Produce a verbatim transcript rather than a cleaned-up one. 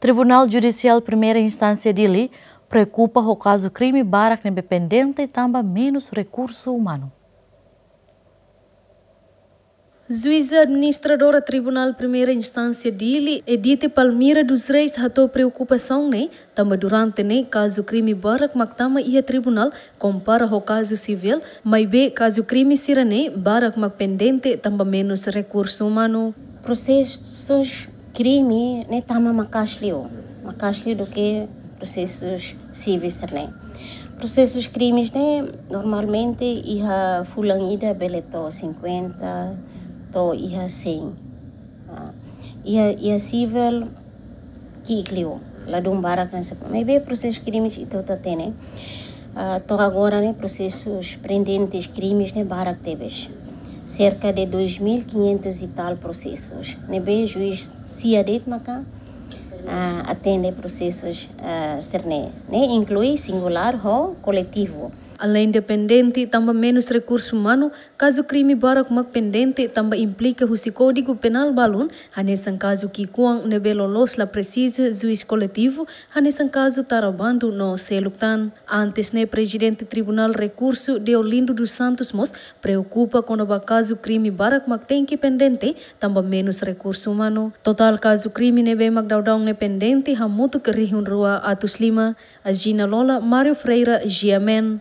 Tribunál Judisiál Primeira Instánsia Dili preokupa ho kazu krime barak ne'ebé pendente tanba menus rekursu umanu. Juíza Administradora Tribunál Primeira Instánsia Dili, Edite Palmira dos Reis, hato'o preokupasaun ne'e tanba durante ne'e kazu krime barak mak tama iha tribunál kompara ho kazu sivíl, maibé kazu krime sira-ne'e barak mak pendente tanba menus rekursu umanu. Prosesus krime ne'e tama maka'as liu, maka'as liu duké prosesus sivíl sira-ne'e. Prosesus krimes ne'e normalmente iha fulan ida bele to'o cinquenta, to'o iha cem. Ah, iha, iha sivíl ki'ik liu, ladún barak ne'e. Maibé prosesus krimes ita hotu hatene, ah, to'o agora ne'e prosesus pendentes krimes ne'e barak tebes. Cerca de dois mil quinhentos e tal prosesus. Ne'ebé juís sia de'it maka, ah, atende prosesus, ah, sira-ne'e. Ne'e inklui singulár ho koletivu. Aleinde pendente tanba menus rekursu umanu, kazu krime barak mak pendente tanba implika husi Kódigu Penál balun, hanesan kazu ki'ikoan ne'ebé loloos la presiza juís koletivu, hanesan kazu tara bandu no seluk tan. Antes ne'e Prezidente Tribunál Rekursu Deolindo dos Santos mós preokupa kona-ba kazu krime barak mak tenke pendente tanba menus rekursu umanu. Totál kazu krime ne'ebé mak daudaun ne'e pendente hamutuk rihun rua atus lima. Agina Lola, Mário Freira, G M N.